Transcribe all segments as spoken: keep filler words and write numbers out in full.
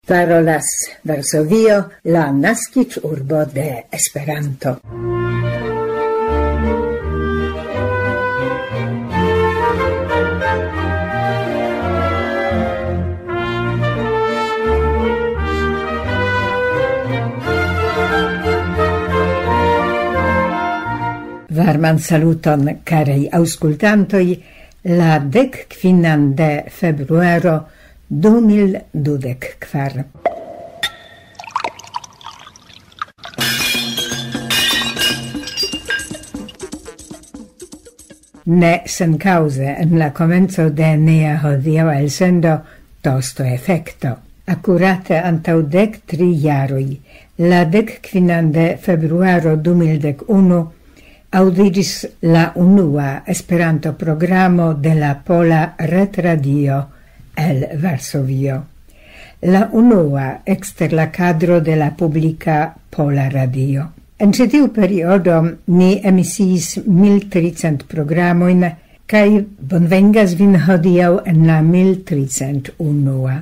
Parolas Varsovio, la naskiĝurbo de Esperanto. Varman saluton, karaj aŭskultantoj, la dek kvinan de februaro du mil dudek kvar. Ne senkaŭze en la komenco de nia hodiaŭa elsendo tosto efekto. Akurate antaŭ dek tri jaroj, la dek kvinan de februaro du mil dek unu, aŭdiĝis la unua Esperanto-programo de la Pola Retradio el Varsovio. La unua ekster la kadro de la publika Pola Radio. En ĉi tiu periodo ni emisiis mil tricent programojn, kaj bonvengas vin hodiaŭ en la mil tricent unua.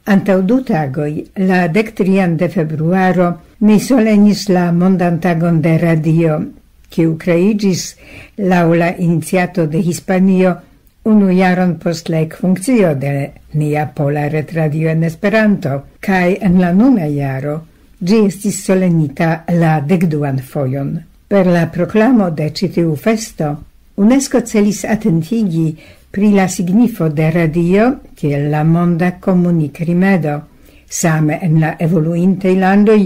Antaŭ du tagoj, la dek trian de februaro, ni solenis la mondan tagon de radio, kiu kreiĝis laŭ la iniciato de Hispanio unu jaron post la ekfunkcio de nia Pola Retradio en Esperanto, kaj en la nuna jaro ĝi estis solenita la dek duan fojon. Per la proklamo de ĉi tiu festo, UNESCO celis atentigi pri la signifo de radio kiel la monda komunikrimedo, same en la evoluintaj landoj,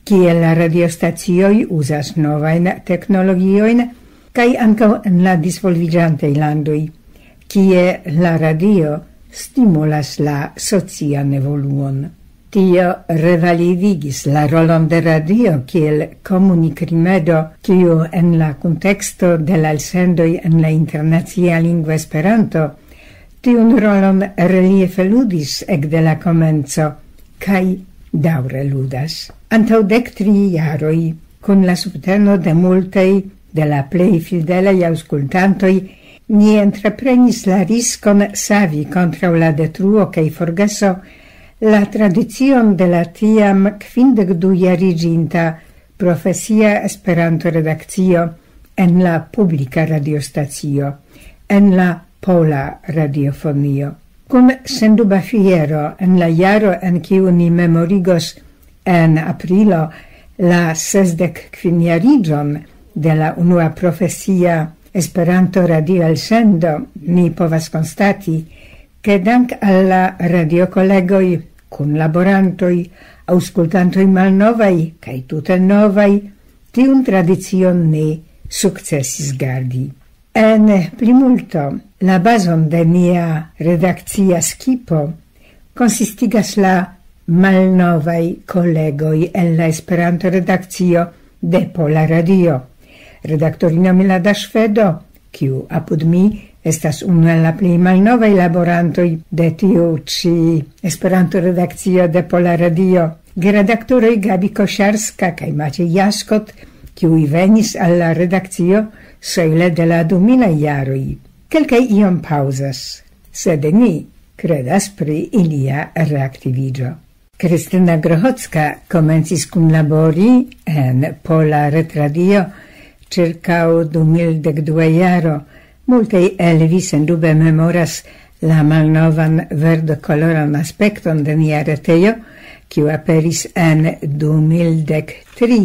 kie la radiostacioj uzas novajn teknologiojn, kaj ankaŭ en la disvolviĝantaj landoj, kie la radio stimulas la socian evoluon. Tio revalidigis la rolon de radio kiel komunikrimedo, kiu en la kunteksto de la elsendoj en la internacia lingvo Esperanto tiun rolon reliefe ludis ekde la komenco, kaj daŭre ludas. Antaŭ dek tri jaroj, kun la subteno de multaj de la plej fidelaj aŭskultantoj, ni entreprenis la riskon savi kontraŭ la detruo kaj forgeso la tradicion de la tiam kvindek du jariĝinta profesia Esperanto-redakcio en la publika radiostacio, en la Pola Radiofonio. Kun senduba fiero en la jaro, en kiu ni memorigos en aprilo la sesdek kvin jariĝon de la unua profesia Esperanto-radio-elsendo, ni povas konstati, ke dank al la radiokolegoj, kunlaborantoj, aŭskultantoj malnovaj kaj tute novaj, tiun tradicion ni sukcesis gardi. En plimulto, la bazon de nia redakcia skipo konsistigas la malnovaj kolegoj en la Esperanto-redakcio de Pola Radio. Redaktorino Milada Ŝvedo, kiu apud mi estas unu el la plej malnovaj laborantoj de tiu ĉi Esperanto-redakcio de Pola Radio. Geredaktoroj Gabi Koszarska kaj Maciej Jaskot, kiuj venis al la redakcio sojle de la du milaj jaroj. Kelkaj iom paŭzas, sed ni kredas pri ilia reaktiviĝo. Kristina Grochocka komencis kunlabori en Pola Retradio ĉirkaŭ du mil dek dua jaro. Multaj el vi sendube memoras la malnovan verdokoloran aspekton de nia retejo, kiu aperis en du mil dek tri,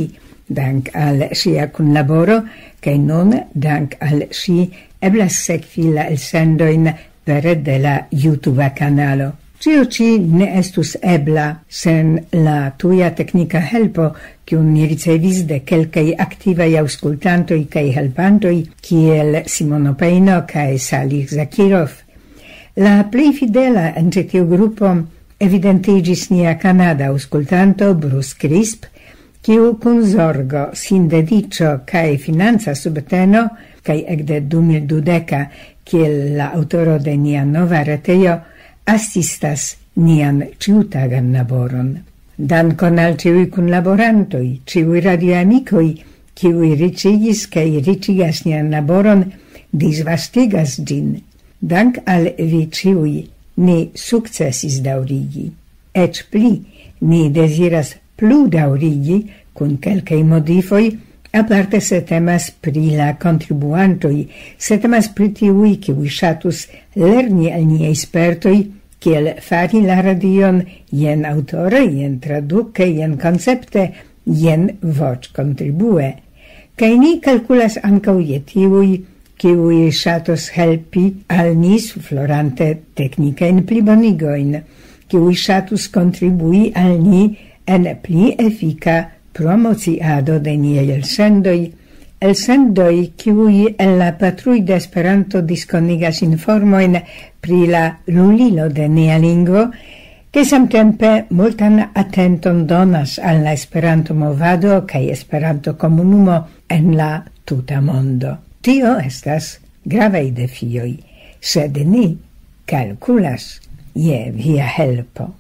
dank al ŝia kunlaboro, kaj nun, dank al ŝi, eblas sekvi la elsendojn pere de la YouTube kanalo. Ĉio ĉi ne estus ebla sen la tuja teknika helpo, kiun ni ricevis de kelkaj aktivaj aŭskultantoj kaj helpantoj, kiel Simono Pejno kaj Salih Zakirov. La plej fidela en ĉi tiu grupo evidentiĝis nia kanada aŭskultanto Bruce Crisp, kiu kun zorgo, sindediĉo kaj financa subteno, kaj ekde du mil dudeka, kiel la aŭtoro de nia nova retejo, asistas nian ĉiutagan laboron. Dankon al ĉiuj kunlaborantoj, ĉiuj radioamikoj, kiuj riĉigis kaj riĉigas nian laboron, disvastigas ĝin. Dank al vi ĉiuj, ni sukcesis daŭrigi. Eĉ pli, ni deziras plu daŭrigi kun kelkaj modifoj, aparte se temas pri la kontribuantoj, se temas pri tiuj, kiuj ŝatus lerni al niaj spertoj, kiel fari la radion jen aŭtore, jen traduke, jen koncepte, jen voĉkontribue. Kaj ni kalkulas ankaŭ je tiuj, kiuj ŝatos helpi al ni suflorante teknikajn plibonigojn, kiuj ŝatus kontribui al ni en pli efika promociado de niaj elsendoj, elsendoj, kiuj el la patruj de Esperanto diskonigas informojn pri la lulilo de nia lingvo, ke samtempe multan atenton donas al la Esperanto-movado kaj Esperanto-komunumo en la tuta mondo. Tio estas gravaj defioj, sed ni kalkulas je via helpo.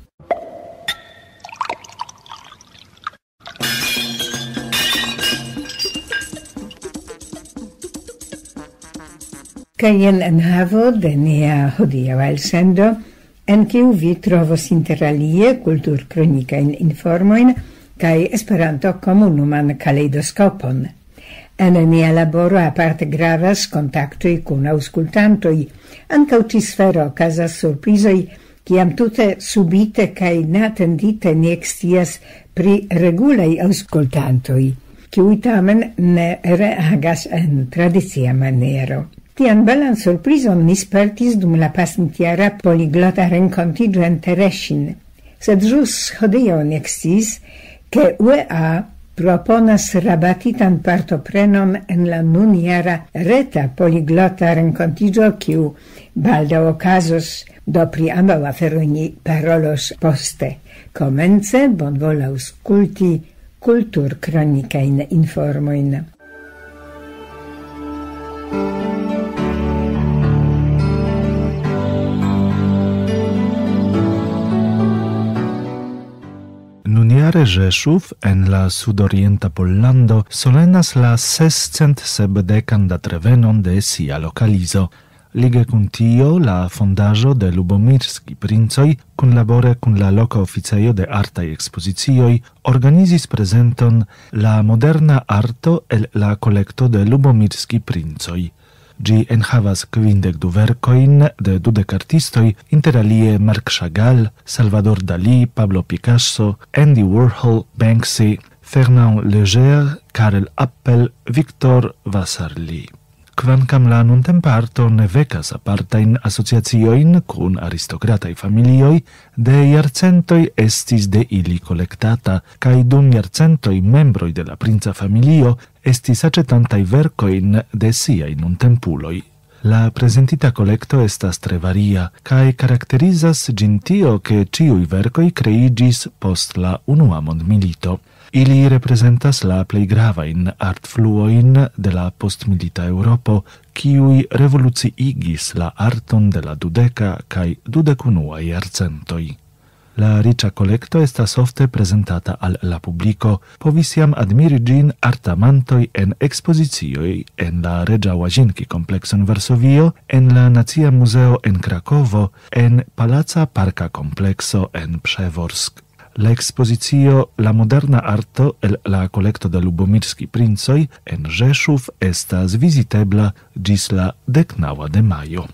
Kaj jen enhavo de nia hodiaŭa elsendo, en kiu vi trovos inter alie kulturkronikajn informojn kaj Esperanto-komunuman kaleidoskopon. En nia laboro aparte gravas kontaktoj kun aŭskultantoj. Ankaŭ ĉi sfero okazas surprizoj, kiam tute subite kaj neatendite ni ekscias pri regulaj aŭskultantoj, kiuj tamen ne reagas en tradicia maniero. Tian belan surprizon ni spertis dum la pasintjara poliglota renkontiĝo en Terešin. Sed ĵus hodiaŭ ni eksciis, ke U E A proponas rabatitan partoprenon en la nunjara reta poliglota renkontiĝo, kiu baldaŭ okazos, do pri ambaŭ aferoj ni parolos poste. Komence bonvolu aŭskulti kulturkronikajn informojn. Nunjare Rzeszów en la sudorienta Pollando solenas la sescent sepdekan datrevenon de sia lokalizo. Lige kun tio, la fondaĵo de Lubomirski Princoj, kunlabore kun la loka oficejo de artaj ekspozicioj, organizis prezenton La moderna arto el la kolekto de Lubomirski Princoj. Ĝi enhavas kvindek du verkojn de dudek artistoj, inter alie Marc Chagall, Salvador Dalí, Pablo Picasso, Andy Warhol, Banksy, Fernand Léger, Karel Appel, Victor Vasarely. Kvankam la nuntempa arto ne vekas apartajn asociaciojn kun aristokrataj familioj, de jarcentoj estis de ili kolektata, kaj dum jarcentoj membroj de la princa familio estis aĉetantaj verkojn de siaj nuntempuloj. La prezentita kolekto estas tre varia, kaj karakterizas ĝin tio, ke ĉiuj verkoj kreiĝis post la Unua Mondmilito. Ili reprezentas la plej gravajn artfluojn de la postmilita Eŭropo, kiuj revoluciigis la arton de la dudeka kaj dudek unua jarcentoj. La riĉa kolekto estas ofte prezentata al la publiko, povis jam admiri ĝin artamantoj en ekspozicioj en la Reĝa Łazienki komplekso en Varsovio, en la Nacia Muzeo en Krakovo, en Palaca Parka Komplekso en Przeworsk. La ekspozicio La moderna arto el la kolekto de Lubomirski Princoj en Rzeszów estas vizitebla ĝis la deknaŭa de majo.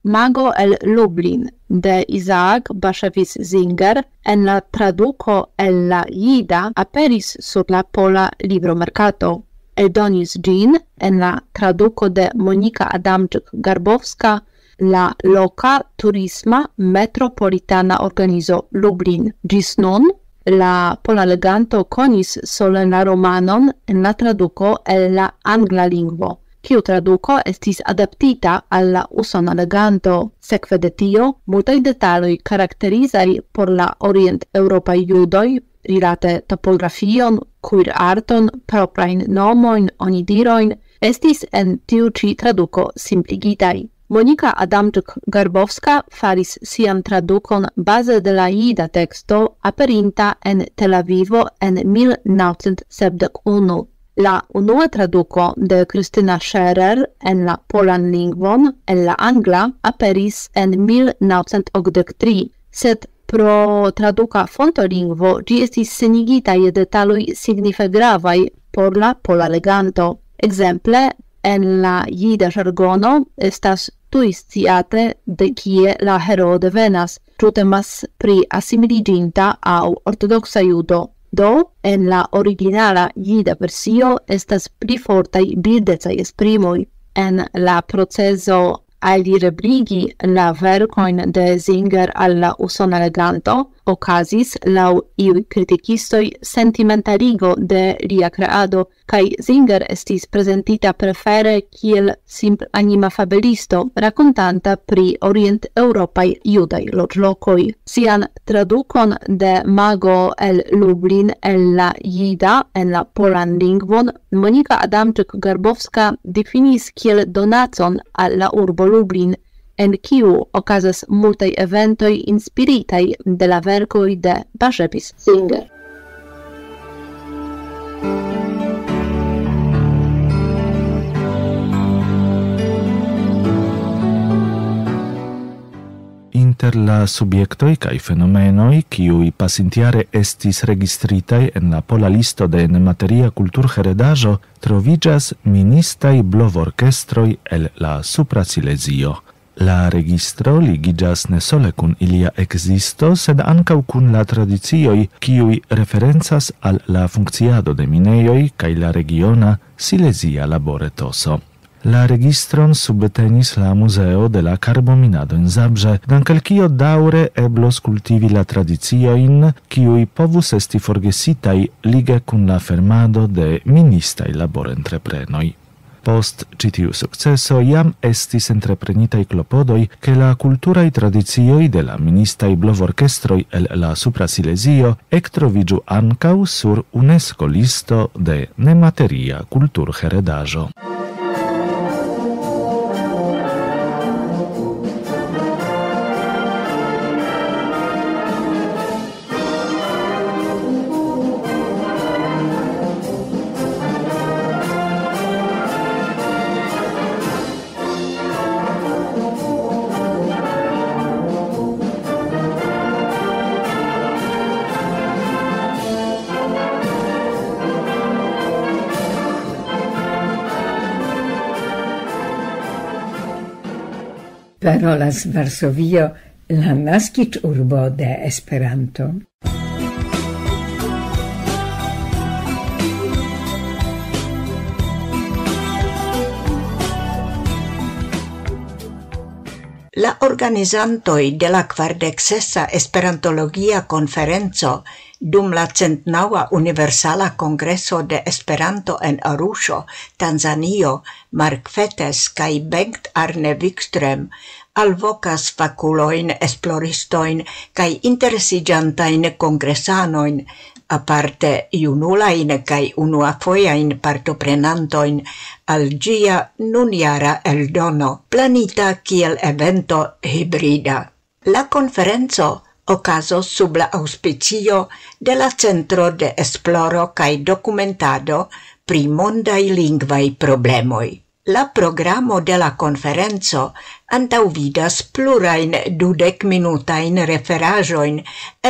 Mago el Lublin de Isaac Bashevis Singer en la traduko el la jida aperis sur la pola libromerkato. Eldonis ĝin en la traduko de Monika Adamczyk-Garbowska la loka turisma metropolitana organizo Lublin. Ĝis nun la pola leganto konis sole la romanon en la traduko el la angla lingvo, kiu traduko estis adaptita al la usona leganto. Sekve de tio, multaj detaloj karakterizaj por la orient-eŭropaj judoj, rilate topografion, kuirarton, proprajn nomojn, onidirojn, estis en tiu ĉi traduko simpligitaj. Monika Adamczyk-Garbowska faris sian tradukon baze de la jida teksto aperinta en Tel Avivo en mil naŭcent sepdek unu. La unua traduko de Kristina Scherer en la polan lingvon el la angla aperis en mil naŭcent okdek tri, sed pro traduka fontolingvo ĝi estis senigita je detaloj signife gravaj por la pola leganto. Ekzemple, en la jida ĵargono estas tuj sciate, de kie la heroo devenas, ĉu temas pri asimiliĝinta aŭ ortodoksa judo. Do, en la originala jida versio estas pli fortaj bildecaj esprimoj. En la procezo alirebligi la verkojn de Singer al la usona leganto okazis, laŭ iuj kritikistoj, sentimentaligo de lia kreado, kaj Singer estis prezentita prefere kiel simplanima fabelisto rakontanta pri orient-eŭropaj judaj loĝlokoj. Sian tradukon de Mago el Lublin el la jida en la polan lingvon Monika Adamczyk-Garbowska difinis kiel donacon al la urbo Lublin, en kiu okazas multaj eventoj inspiritaj de la verkoj de Barzhebis Singer. Inter la subjektoj kaj fenomenoj, kiuj pasintjare estis registritaj en la pola listo de nemateria kulturheredaĵo, troviĝas ministaj blovorkestroj el la Supra Silezio. La registro ligiĝas ne sole kun ilia ekzisto, sed ankaŭ kun la tradicioj, kiuj referencas al la funkciado de minejoj kaj la regiona silezia laboretoso. La registron subtenis la Muzeo de la Karbominado en Zabrze, dank al kio daŭre eblos kultivi la tradiciojn, kiuj povus esti forgesitaj lige kun la fermado de ministaj laborentreprenoj. Post ĉi tiu sukceso jam estis entreprenitaj klopodoj, ke la kulturaj tradicioj de la ministaj blovorkestroj el la Supra Silezio ektroviĝu ankaŭ sur UNESCO listo de nemateria kulturheredaĵo. Parolas Varsovio, la naskiĝurbo de Esperanto. La organizantoj de la kvardek sesa Esperantologia Konferenco dum la centnaŭa Universala Kongreso de Esperanto en Aruŝo, Tanzanio, Mark Fetes kaj Bengt Arne Wikström alvokas fakulojn, esploristojn kaj interesiĝantajn kongresanojn, aparte junulajn kaj unuafojajn partoprenantojn al ĝia nunjara eldono, planita kiel evento hibrida. La konferenco okazos sub la aŭspicio de la Centro de Esploro kaj Dokumentado pri Mondaj Lingvaj Problemoj. La programo de la konferenco antaŭvidas plurajn dudek-minutajn referaĵojn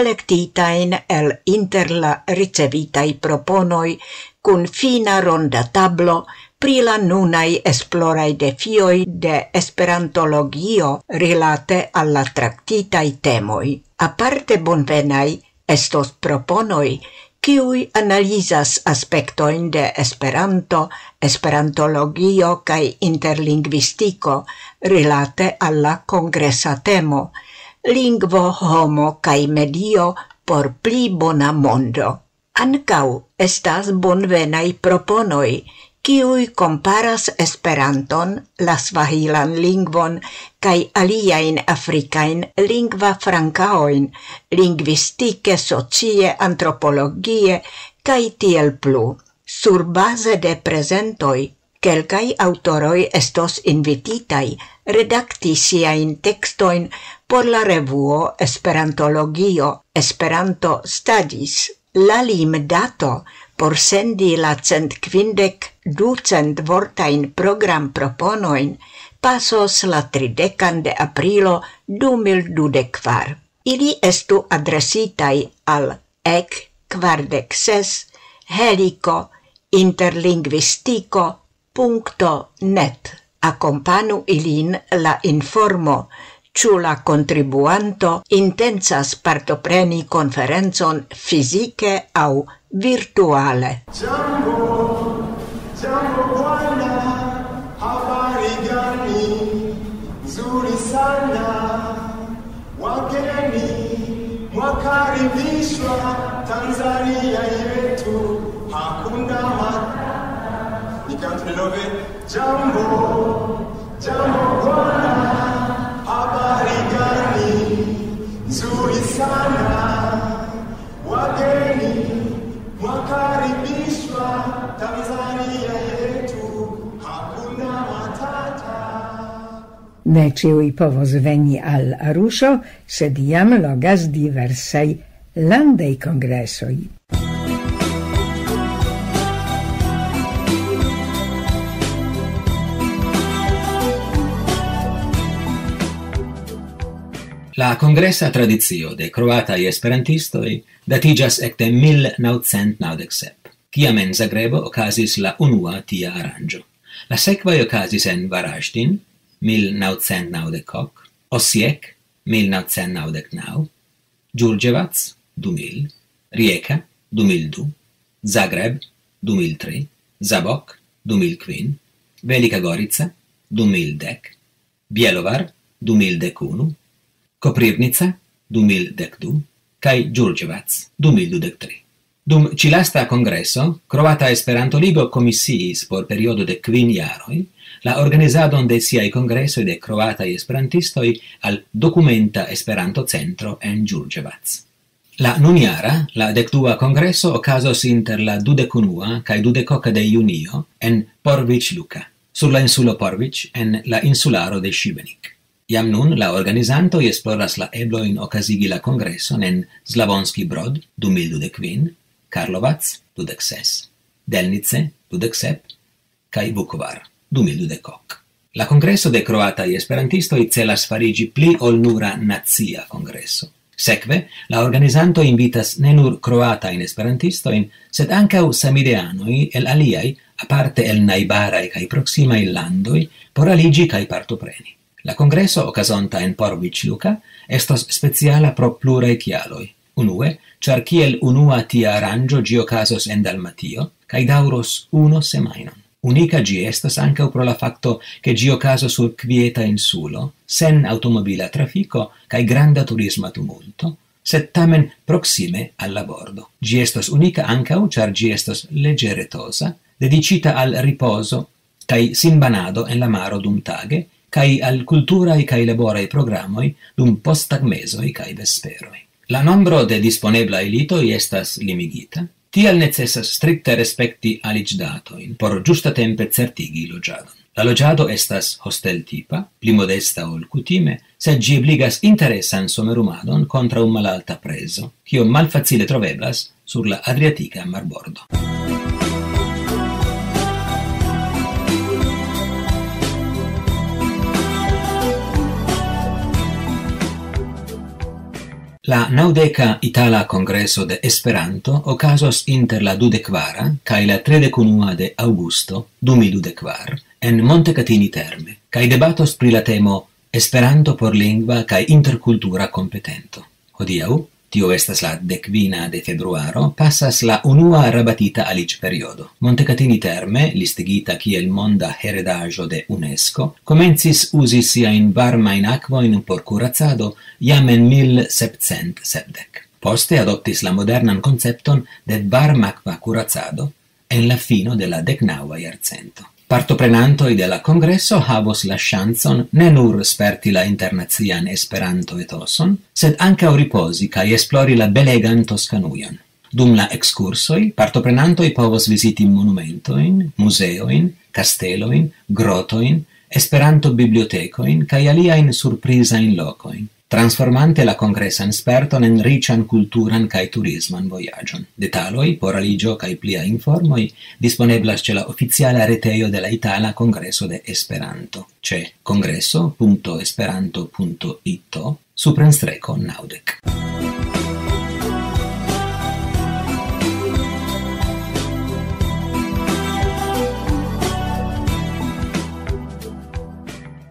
elektitajn el inter la ricevitaj proponoj kun fina ronda tablo pri la nunaj esploraj defioj de esperantologio rilate al la traktitaj temoj. Aparte bonvenaj estos proponoj, kiuj analizas aspektojn de Esperanto, esperantologio kaj interlingvistiko rilate al la kongresa temo: lingvo, homo kaj medio por pli bona mondo. Ankaŭ estas bonvenaj proponoj, kiuj komparas Esperanton, la svahilan lingvon kaj aliajn afrikajn lingvafrankaojn, lingvistike, socie, antropologie kaj tiel plu. Surbaze de prezentoj, kelkaj aŭtoroj estos invititaj redakti siajn tekstojn por la revuo Esperantologio, Esperanto Studies. La limdato Por sendi la cent kvindek ducent vortajn programproponojn pasos la tridekan de aprilo du mil dudek kvar. Ili estu adresitaj al ek kvardek ses heliko interlingvistiko punkto net. Akompanu ilin la informo, ĉu la kontribuanto intencas partopreni konferencon fizike aŭ virtuale. Jambo, jambo bwana, habari gani? Nzuri sana. Wageni mwakaribishwa Tanzania yetu, hakuna ma-, nikantu nilove. Jambo, jambo bwana, habari gani? Nzuri sana. Wageni mwakaribishwa Tanzania yetu, hakuna matata. Ne ĉiuj povos veni al Ruso, sed jam logas diversaj landaj kongresoj. La kongresa tradicio de kroataj esperantistoj datiĝas ekde mil naŭcent naŭdek sep, kiam en Zagrebo okazis la unua tia aranĝo. La sekvaj okazis en Varaĵdin, mil naŭcent naŭdek ok, Osijek, mil naŭcent naŭdek naŭ, Ĝurĝevac, du mil, Rijeka, du mil du, Zagreb, du mil tri, Zabok, du mil kvin, Velika Gorica, du mil dek, Bjelovar, du mil dek unu, Koprivnica, du mil dek du, kaj Ĝurĝevac, du mil dudek tri. Dum ĉi-lasta kongreso, Kroata Esperanto-Ligo komisiis por periodo de kvin jaroj la organizadon de siaj kongresoj de kroataj esperantistoj al Dokumenta Esperanto-Centro en Ĝurĝevac. La nunjara, la dekdua kongreso okazos inter la dudek unua kaj dudek oka de junio en Porvic Luka, sur la insulo Porvic en la insularo de Šibenik. Jam nun la organizantoj esploras la eblojn okazigi la kongreson en Slavonski Brod du mil dudek kvin, Karlovac dudek ses, Delnice dudek sep kaj Vukovar du mil dudek ok. La Kongreso de Kroataj Esperantistoj celas fariĝi pli ol nura nacia kongreso. Sekve, la organizantoj invitas ne nur kroatajn esperantistojn, sed ankaŭ samideanoj el aliaj, aparte el najbaraj kaj proksimaj landoj, por aliĝi kaj partopreni. La kongreso okazonta en Porvic Luka estos speciala pro pluraj kialoj. Unue, ĉar kiel unua tia aranĝo ĝi okazos en Dalmatio kaj daŭros unu semajnon. Unika ĝi estas ankaŭ pro la fakto, ke ĝi okazos sur kvieta insulo, sen aŭtomobila trafiko kaj granda turisma tumulto, sed tamen proksime al la bordo. Ĝi estos unika ankaŭ, ĉar ĝi estos leĝeretoza, dediĉita al ripozo kaj sinbanado en la maro dumtage, kaj al kulturaj kaj laboraj programoj dum posttagmezoj kaj vesperoj. La nombro de disponeblaj litoj estas limigita, tial necesas strikte respekti aliĝdatojn por ĝustatempe certigi loĝadon. La loĝado estas hosteltipa, pli modesta ol kutime, sed ĝi ebligas interesan somerumadon kontraŭ malalta prezo, kio malfacile troveblas sur la Adriatika marbordo. La naŭdeka Itala Kongreso de Esperanto okazos inter la dudek kvara kaj la tridek unua de aŭgusto du mil dudek kvar en Montecatini Terme, kaj debatos pri la temo Esperanto por lingva kaj interkultura kompetento. Hodiaŭ, tio estas la dek kvina de februaro, pasas la unua rabatita aliĝperiodo. Montecatini Terme, listigita kiel monda heredaĵo de UNESCO, komencis uzi siajn varmajn akvojn por kuracado jam en mil sepcent sepdek. Poste adoptis la modernan koncepton de varmakva kuracado en la fino de la deknaŭa jarcento. Partoprenantoj de la kongreso havos la ŝancon ne nur sperti la internacian Esperanto-etoson, sed ankaŭ ripozi kaj esplori la belegan Toskanujon. Dum la ekskursoj partoprenantoj povos viziti monumentojn, muzeojn, kastelojn, grotojn, Esperanto-bibliotekojn kaj aliajn surprizajn lokojn. Transformante la kongresan sperton en riĉan kulturan kaj turisman vojaĝon. Detaloj, poraliĝo kaj plia informoj disponeblas ĉe la oficiala retejo de la Itala Kongreso de Esperanto, ĉe kongreso punto esperanto punto ito suprenstreko naŭdek.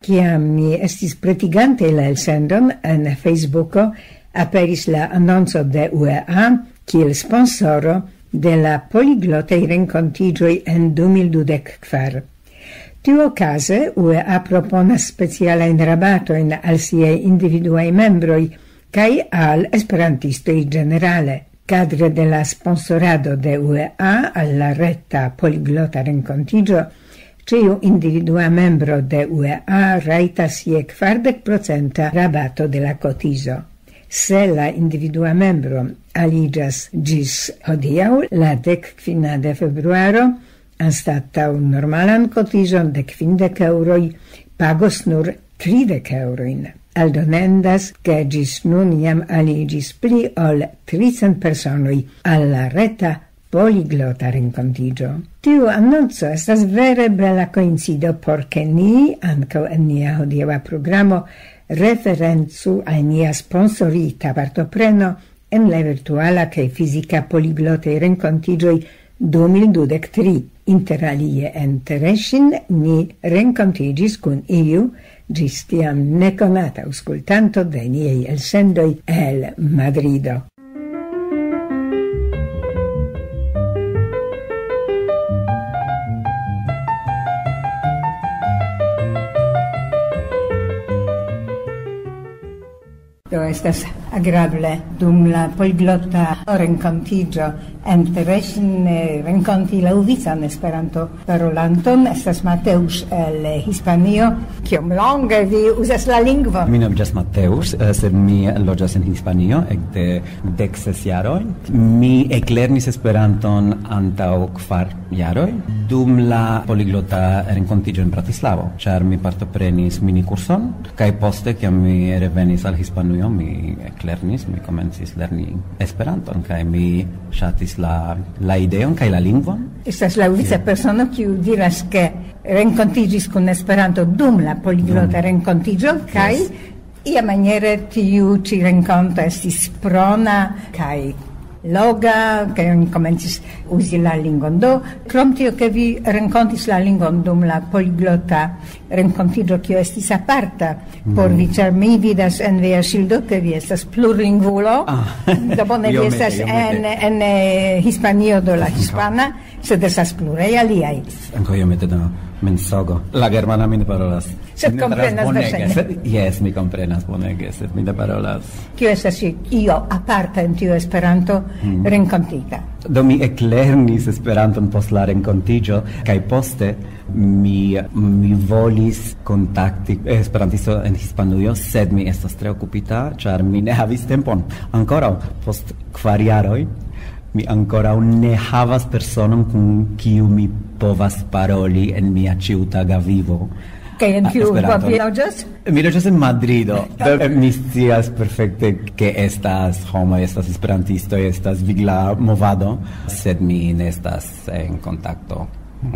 Kiam ni estis pretigante la elsendon en Facebooko, aperis la anonco de U E A kiel sponsoro de la poliglotaj renkontiĝoj en du mil dudek kvar. Tiuokaze U E A proponas specialajn rabatojn al siaj individuaj membroj kaj al esperantistoj ĝenerale. Kadre de la sponsorado de U E A al la reta poliglota renkontiĝo, ĉiu individua membro de U E A rajtas je kvardek procenta rabato de la kotizo. Se la individua membro aliĝas ĝis hodiaŭ, la dek kvina de februaro, anstataŭ normalan kotizon de kvindek eŭroj, pagos nur tridek eŭrojn. Aldonendas, ke ĝis nun jam aliĝis pli ol tricent personoj al la reta poliglota renkontiĝo. Tiu anonco estas vere bela koincido, por ke ni, ankaŭ en nia hodiaŭa programo, referencu al nia sponsorita partopreno en la virtuala kaj fizika poliglotaj renkontiĝoj du mil dudek tri. Inter alie en Teresin ni renkontiĝis kun iu ĝis tiam nekonata aŭskultanto de niaj elsendoj el Madrido. Do estas agrable dum la poliglota renkontiĝo en Teresin, eh, renkonti la uvican Esperanto-parolanton. Estas Mateus el Hispanio. Kiom longe vi uzas la lingvon? Mi nomiĝas Mateus, eh, sed mi loĝas en Hispanio ekde dek ses jaroj. Mi eklernis Esperanton antaŭ kvar jaroj dum la poliglota renkontiĝo en Bratislavo, ĉar mi partoprenis minikurson, kaj poste, kiam mi revenis al Hispanujo, mi eklernis, mi komencis lerni Esperanton, kaj mi ŝatis la, la ideon kaj la lingvon. Estas la uvica persono, kiu diras, ke renkontiĝis kun Esperanto dum la poliglota renkontiĝo, kaj iamaniere tiu ĉi renkonto estis prona kaj loga, kaj oni komencis uzi la lingvon. Do, krom tio, ke vi renkontis la lingvon dum la poliglota renkontiĝo, kio estis aparta por vi, ĉar mi vidas en via ŝildo, ke vi estas plurlingvulo. Ah. Do bone, vi estas en, en, eh, Hispanio, do la hispana, sed estas pluraj aliaj. Ankaŭ iomete da mensogo. La germana mi ne parolas. Sed mi ne parolas komprenas bonege, verŝajne. Sed, jes, mi komprenas bonege, sed mi ne parolas. Kio estas io aparta en tiu Esperanto renkontita? Do mi eklernis Esperanton post la renkontiĝo, kaj poste mi, mi volis kontakti esperantisto en Hispanujo, sed mi estas tre okupita, ĉar mi ne havis tempon. Ankoraŭ post kvar jaroj, mi ankoraŭ ne havas personon, kun kiu mi povas paroli en mia ĉiutaga vivo. Kaj en kiu urbo vi loĝas? Mi loĝas en Madrido. Do, mi scias perfekte, ke estas homoj, estas esperantistoj, estas vigla movado, sed mi ne estas en kontakto.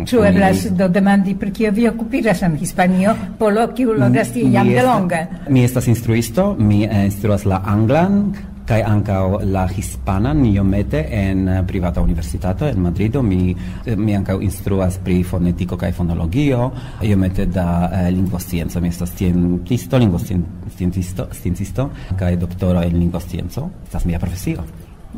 Ĉu eblas do demandi, pri kio vi okupiĝas en Hispanio, polo kiu loĝas tie jam delonge? Mi estas instruisto, mi, eh, instruas la anglan kaj ankaŭ la hispanan iomete en, eh, privata universitato en Madrido. Mi, eh, mi ankaŭ instruas pri fonetiko kaj fonologio, iomete da, eh, lingvoscienco. Mi estas sciencisto, lingvoscien-, sciencisto, sciencisto kaj doktoro en lingvoscienco. Estas mia profesio.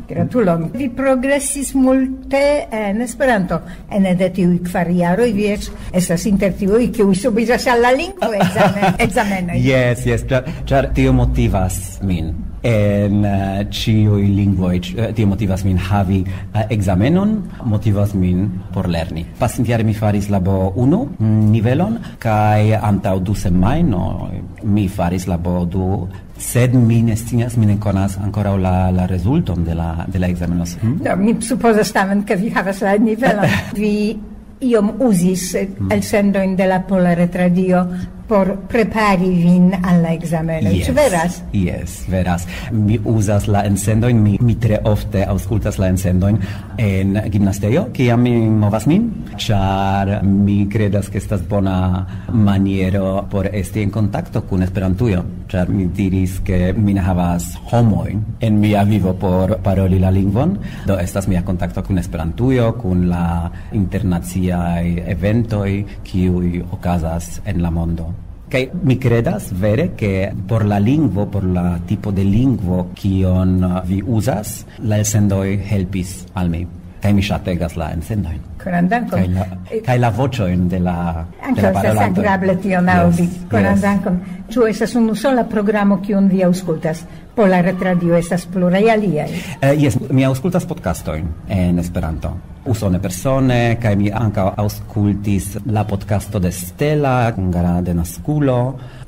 Gratulon. Vi progresis multe en Esperanto. Ene de tiuj kvar jaroj vi eĉ estas inter tiuj, kiuj subiĝas al la lingvo ekzame-, ekzamenoj. Jes, jes, ĉar, ĉar tio motivas min. En, eh, ĉiuj lingvoj, ĉ-, eh, tio motivas min havi, eh, ekzamenon, motivas min por lerni. Pasintjare mi faris la B unu nivelon, kaj antaŭ du semajnoj mi faris la B du, sed mi ne scias, mi ne konas ankoraŭ la, la rezulton de la, de la ekzameno. Hmm? Do, mi supozas tamen, ke vi havas la nivelon. Vi iom uzis, eh, elsendojn de la Pola Retradio por prepari vin al la ekzameno. Yes. Ĉu veras? Yes, veras. Mi uzas la elsendojn, mi, mi tre ofte aŭskultas la elsendojn en gimnastio, kiam mi movas min, ĉar mi kredas, ke estas bona maniero por esti en kontakto kun Esperantujo, ĉar mi diris, ke mi ne havas homojn en mia vivo por paroli la lingvon, do estas mia kontakto kun Esperantujo, kun la internaciaj eventoj, kiuj okazas en la mondo. Kaj mi kredas vere, ke por la lingvo, por la tipo de lingvo, kion vi uzas, la elsendoj helpis al mi. Kaj mi ŝategas la elsendojn. Koran dankon. Kaj la, kaj la voĉojn de la, de la parolantoj. Ankaŭ estas agrable tion aŭdi. Yes, yes. Koran dankon. Ĉu estas unu sola programo, kiun vi aŭskultas? Pola Retradio, estas pluraj aliaj. Eh, yes, mi aŭskultas podcastojn en Esperanto. Usone persone, kaj mi ankaŭ aŭskultis la podcasto de Stella, hungara de naskulo,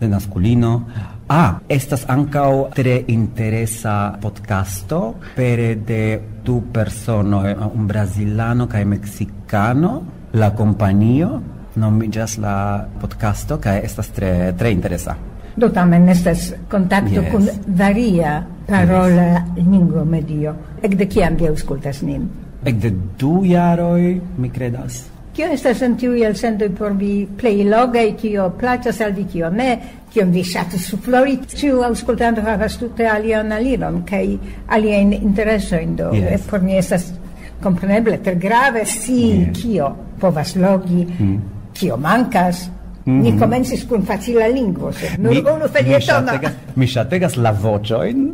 de naskulino. Ah, estas ankaŭ tre interesa podcasto pere de du personoj, un brazilano kaj meksikano. La kompanio nomiĝas la podcasto, kaj estas tre, tre interesa. Do tamen estas kontakto Yes. kun varia parola lingvo medio. Ekde kiam vi aŭskultas nin? Ekde du jaroj, mi kredas. Kio estas en tiuj elsendoj por vi plej logaj, kio plaĉas al vi, kio ne, kion vi ŝatus suflori? Ĉiu aŭskultanto havas tute alian aliron kaj aliajn interesojn, do Yes. por mi estas kompreneble tre grave si Yes. kio povas logi, Mm. kio mankas. Ni Mhm. komencis kun facila lingvo, sed nur Mi, unu mi felietono. ŝategas, mi ŝategas la voĉojn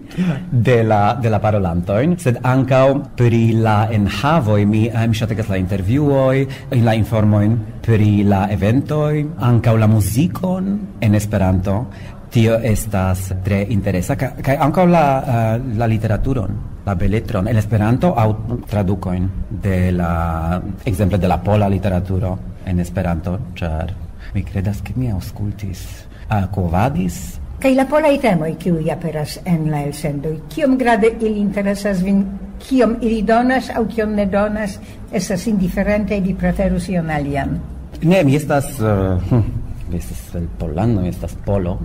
de la, de la parolantojn, sed ankaŭ pri la enhavoj. Mi, eh, mi ŝategas la intervjuoj, la informojn pri la eventoj, ankaŭ la muzikon en Esperanto. Tio estas tre interesa, ka-, kaj ankaŭ la, eh, la literaturon, la beletron en Esperanto aŭ tradukojn de la, ekzemple de la pola literaturo en Esperanto, ĉar mi kredas, ke mi aŭskultis, ah, Quo Vadis. Kaj la polaj temoj, kiuj aperas en la elsendoj, kiom grave ili interesas vin, kiom ili donas aŭ kiom ne donas, estas indiferente, vi preferus ion alian? Ne, mi estas, eh, hm, mi estas el Pollando, mi estas polo.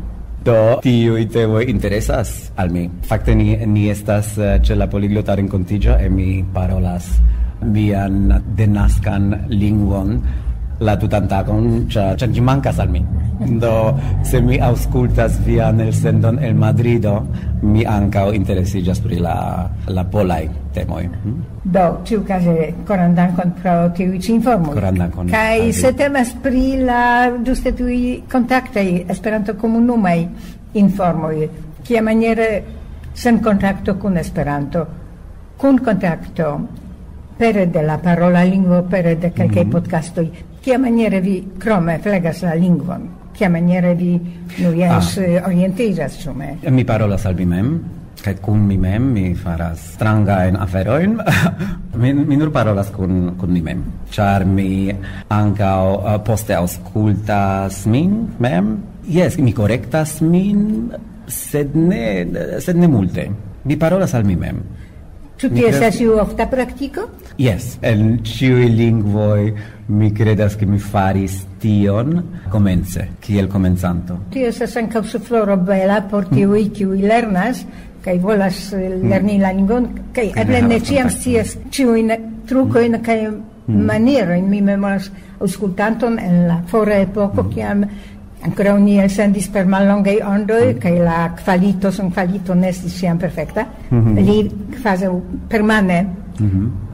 Do, tiuj temoj interesas al mi. Fakte, ni, ni estas, eh, ĉe la poliglota renkontiĝo, e mi parolas mian denaskan lingvon la tutan tagon, ĉar, ĉar ĝi mankas al mi. Do, se mi aŭskultas vian elsendon el Madrido, mi ankaŭ interesiĝas pri la, la polaj temoj. Hm? Do, ĉiukaze, koran dankon pro tiuj ĉi informoj. Koran dankon Kaj al vi. Se temas pri la ĝuste tiuj kontaktaj Esperanto-komunumaj informoj, kiamaniere sen kontakto kun Esperanto, kun kontakto pere de la parola lingvo, pere de kelkaj Mhm. podcastoj, kiamaniere vi krome flegas la lingvon, kiamaniere vi, nu jes, Ah. eh, orientiĝas, ĉu ne? Mi parolas al mi mem, kaj kun mi mem mi faras strangajn aferojn. Mi, mi nur parolas kun, kun mi mem, ĉar mi ankaŭ, eh, poste aŭskultas min mem. Jes, mi korektas min, sed ne, sed ne multe. Mi parolas al mi mem. Ĉu Mi tio kredas estas iu ofta praktiko? Jes, en ĉiuj lingvoj mi kredas, ke mi faris tion komence, kiel komencanto. Tio estas ankaŭ sufloro bela por tiuj, kiuj lernas kaj volas, eh, lerni la lingvon, kaj Kaj eble ne ne havas ĉiam kontakton. scias ĉiujn trukojn kaj manierojn. Mi memoras aŭskultanton en la fora epoko, kiam ankoraŭ ni elsendis per mallongaj ondoj, kaj la kvalito, son kvalito ne estis ĉiam perfekta. Li kvazaŭ permane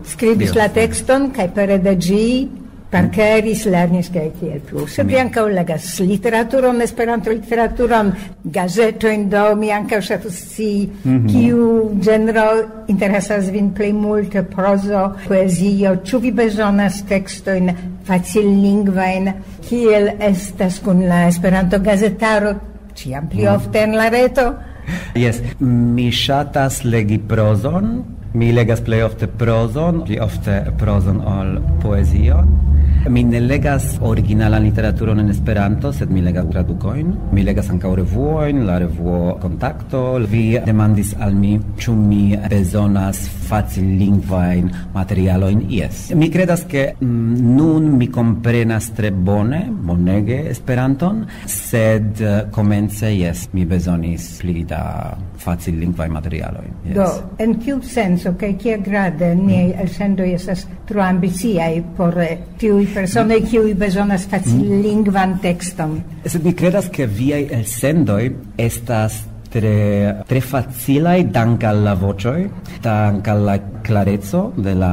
skribis Dio. la tekston, kaj pere de ĝi parkeris, lernis kaj tiel plu. Sed mi ankaŭ legas literaturon, Esperanto-literaturon, gazetojn, do mi ankaŭ ŝatus scii, kiu ĝenro interesas vin plej multe, prozo, poezio, ĉu vi bezonas tekstojn facillingvajn, kiel estas kun la Esperanto-gazetaro, ĉiam pli ofte en la reto? Jes, mi ŝatas legi prozon, mi legas plej ofte prozon, pli ofte prozon ol poezion. Mi ne legas originalan literaturon en Esperanto, sed mi legas tradukojn. Mi legas ankaŭ revuojn, la revuo Kontakto. Vi demandis al mi, ĉu mi bezonas facillingvajn materialojn. Jes. Mi kredas, ke mm, nun mi komprenas tre bone, bonege Esperanton, sed eh, komence, jes, mi bezonis pli da facillingvaj materialoj. Jes. Do, en kiu senco kaj kiel grade niaj elsendoj estas tro ambiciaj por eh, tiuj personoj, kiuj bezonas facillingvan tekston? Sed mi kredas, ke viaj elsendoj estas tre, tre facilaj dank al la voĉoj, dank al la klareco de la,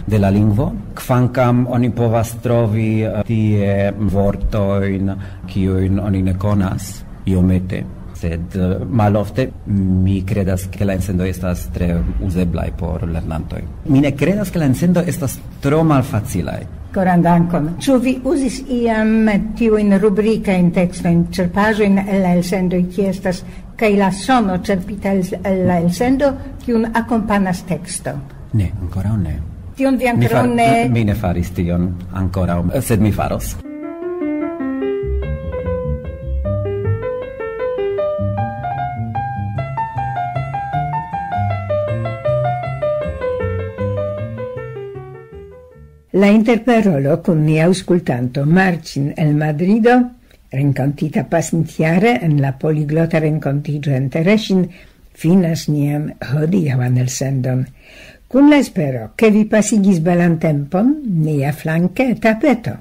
de la lingvo. Kvankam oni povas trovi eh, tie vortojn, kiujn oni ne konas, iomete. Sed eh, malofte mi kredas, ke la elsendoj estas tre uzeblaj por lernantoj. Mi ne kredas, ke la elsendoj estas tro malfacilaj. Koran dankon. Ĉu vi uzis iam tiujn rubrikajn tekstojn, ĉerpaĵojn el la elsendoj, kie estas kaj la sono ĉerpita el el la elsendo, kiun akompanas teksto? Ne, ankoraŭ ne. Tion vi Mi, ankoraŭ far, ne mi ne faris tion ankoraŭ, sed mi faros. La interparolo kun nia aŭskultanto Marcin el Madrido, renkontita pasintjare en la poliglota renkontiĝo en Teresin, finas nian hodiaŭan elsendon. Kun la espero, ke vi pasigis belan tempon, nia flanke tapeto.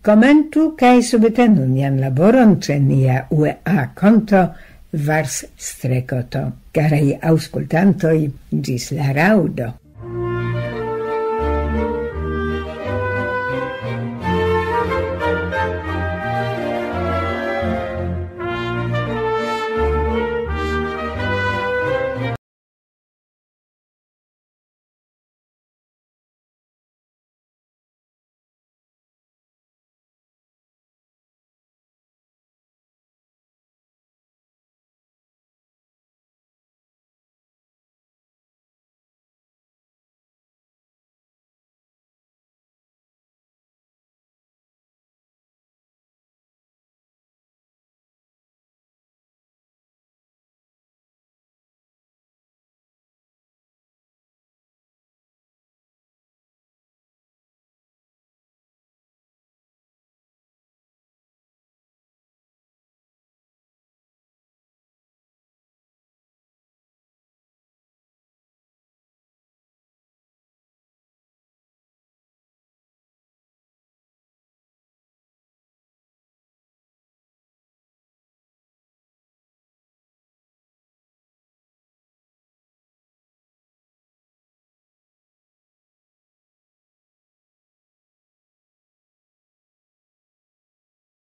Komentu kaj subtenu nian laboron ĉe nia U E A konto Vars Strekoto. Karaj aŭskultantoj, ĝis la raŭdo.